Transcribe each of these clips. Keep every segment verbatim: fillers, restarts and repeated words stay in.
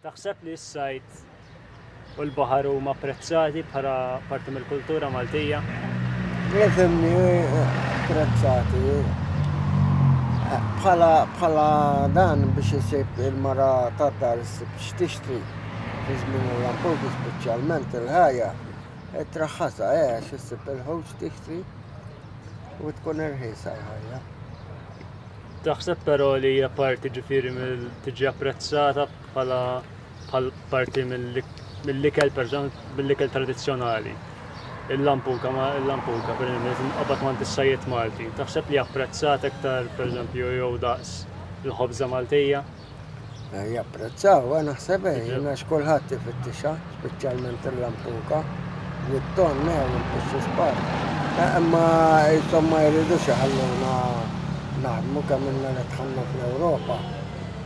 Taħseb li s-sajd u l-baħar huma apprezzati bħala parti mill-kultura Maltija? Ifhimni, apprezzati. Bħala bħala dan biex isib il-mara tad-dar, issib x'tixtri fi żmien il-lampuki, speċjalment il-ħajja. Traħħasa, eh, għax issib il-ħut tixtri u tkun irħisa l-ħajja. Taħseb però li hija parti, ġifieri, mill tiġi apprezzata bħala bħal parti mill-ikel, per mill-ikel tradizzjonali? Il-lampuka, ma il-lampuka, per eżempju, qabad ma is-sajjied Malti. Taħseb li apprezzat iktar, per eżempju, jew daqs il-ħobża Maltija? Eh, Japprezzaw, eh, naħseb, eh, jiena x'kulħadd ifittixha, speċjalment il-lampuka, u t-ton, eh, u l-pixxi spar. Imma insomma jridux iħalluna naħdmu kemm ilna li dħalna fl-Ewropa.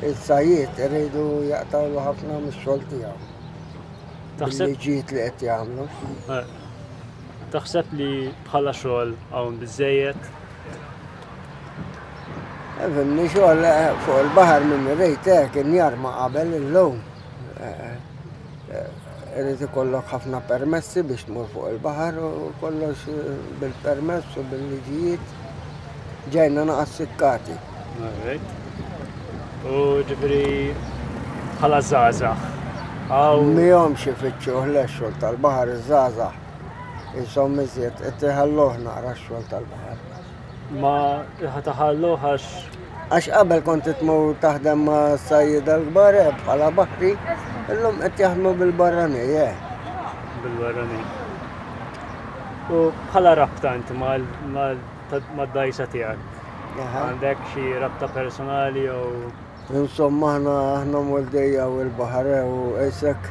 Il-sajjied iridu jaqtawlu ħafna mix-xogħol tiegħu. Taħseb Bil-liġijiet li qed jagħmlu. Eh, Taħseb li bħala xogħol hawn biżejjed? Ifhimni, xogħol eh, fuq il-baħar minn rejt eh, kien jarma qabel, illum. Eh, eh, Irid ikollok ħafna permessi biex tmur fuq il-baħar u kollox eh, bil-permess u bil-liġijiet. Ġejna naqas sikkati. Alright. U ġifieri bħala żgħażagħ. Hawn Mihomx ifittxuh le xogħol tal-baħar iż-żgħażagħ. Isom iżjed qed iħalluh naqra x-xogħol tal-baħar. Ma ħataħallu għax Għax qabel kont tmur taħdem ma' sajjida l-kbar eh, bħala baħri, illum qed jaħdmu bil-barrani, eh. Bil-barrani. U bħala rabta inti mal-dajsa tiegħek. Aha. Għandek xi rabta personali jew Insomma, aħna aħna mwoldija u l-baħar eh, u qisek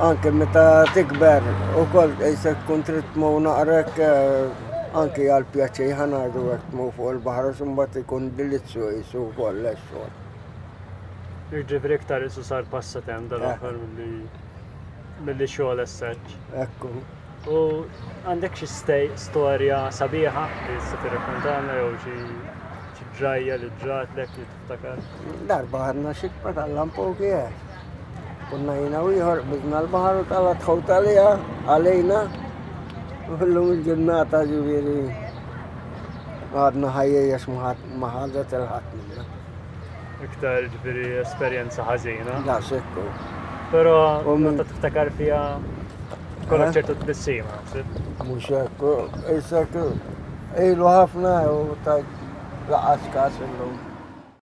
anke meta tikber u koll qisek tkun trid tmur naqrek eh, anke għal pjaċir, ħa ngħidu hekk, tmur fuq il-baħar u mbagħad ikun delizzju qisu wkoll x-xogħol. Jiġifieri iktar isu sar passatemp dal-aħħar milli milli xogħol as such. Ekku. U għandek xi stej storja sabiħa li tista' tirrakkontana jew xi xi ġrajja li ġratlek li tiftakar? Darba ħadna xikba tal-lampuki, eh. Konna jiena u ieħor, qbiżna l-baħar u telgħet ħuta għalija għalejna. U llum il-ġurnata, ġifieri, għadna ħajjin għax ma ħadet 'il ħadd minna. Iktar ġifieri esperjenza ħażina. Da sekku. Però U min- meta tiftakar fiha kollok Eh? ċertu tbissima, naħseb. Mhux hekk, qisek ilu ħafna u ta' lanqas kas illum.